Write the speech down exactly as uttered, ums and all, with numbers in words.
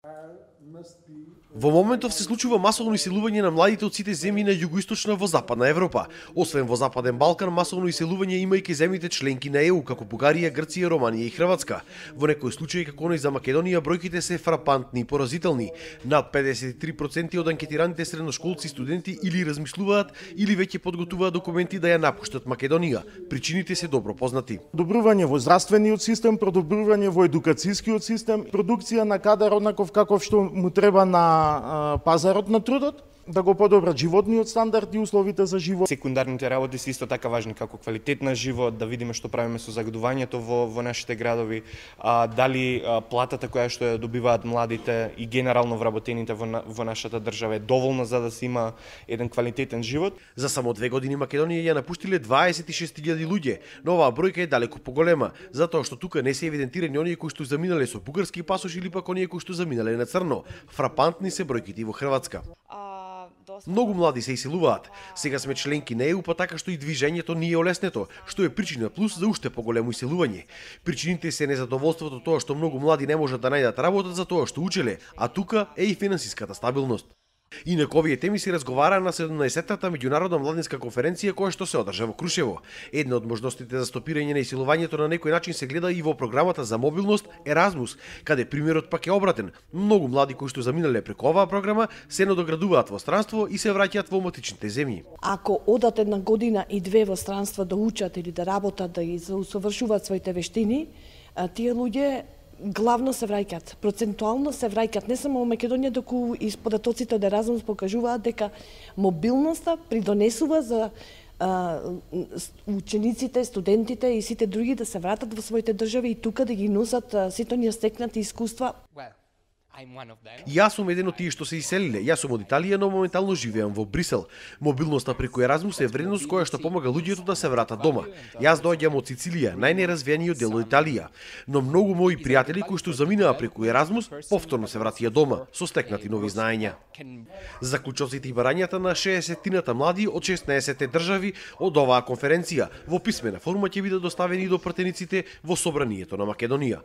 Во моментов се случува масовно иселување на младите од сите земји на југоисточна во Западна Европа. Освен во Западен Балкан, масовно иселување има и ке земјите членки на Е У, како Бугарија, Грција, Романија и Хрватска. Во некои случаи, како оној за Македонија, бројките се фрапантни и поразителни. Над педесет и три проценти од анкетираните средношколци и студенти или размислуваат или веќе подготвуваат документи да ја напуштат Македонија. Причините се добро познати. Подобрување во здравствениот систем, подобрување во едукацијскиот систем, продукција на кадар однаков каков што му треба на пазарот на трудот, да го подобрат животниот стандард и условите за живот. Секундарните работи се исто така важни, како квалитет на живот, да видиме што правиме со загадувањето во, во нашите градови, а, дали а, платата која што ја добиваат младите и генерално вработените во, во нашата држава е доволна за да се има еден квалитетен живот. За само две години Македонија ја напуштиле дваесет и шест илјади луѓе, но оваа бројка е далеку поголема, затоа што тука не се евидентирани оние кои што заминале со бугарски пасош или пак оние кои што заминале на црно. Фрапантни се бројките во Хрватска. Многу млади се иселуваат. Сега сме членки на Е У, па така што и движењето ни е олеснето, што е причина плюс за уште поголемо иселување. Причините се незадоволството тоа што многу млади не можат да најдат работа за тоа што учеле, а тука е и финансиската стабилност. Инак овие теми се разговара на седумнаесеттата меѓународна младинска конференција која што се одржа во Крушево. Една од можностите за стопирање на иселувањето на некој начин се гледа и во програмата за мобилност Еразмус, каде примерот пак е обратен. Многу млади кои што заминале преку оваа програма се надоградуваат во странство и се враќаат во матичните земји. Ако одат една година и две во странство да учат или да работат, да усовршуваат своите вештини, тие луѓе главно се враќаат, процентуално се враќаат не само во Македонија, доку и податоците од Еразмус покажуваат дека мобилноста придонесува за а, учениците, студентите и сите други да се вратат во своите држави и тука да ги носат а, сите оние стекнати искуства. Јас сум еден од тие што се иселиле. Јас сум од Италија, но моментално живеам во Брисел. Мобилноста преку Еразмус е вредност која што помага луѓето да се вратат дома. Јас доаѓам од Сицилија, најнеразвиениот дел од Италија, но многу мои пријатели кои што заминаа преку Еразмус повторно се вратија дома со стекнати нови знаења. Заклучоците и барањата на шеесеттината млади од шеснаесет држави од оваа конференција во писмена форма ќе бидат доставени до пратениците во Собранието на Македонија.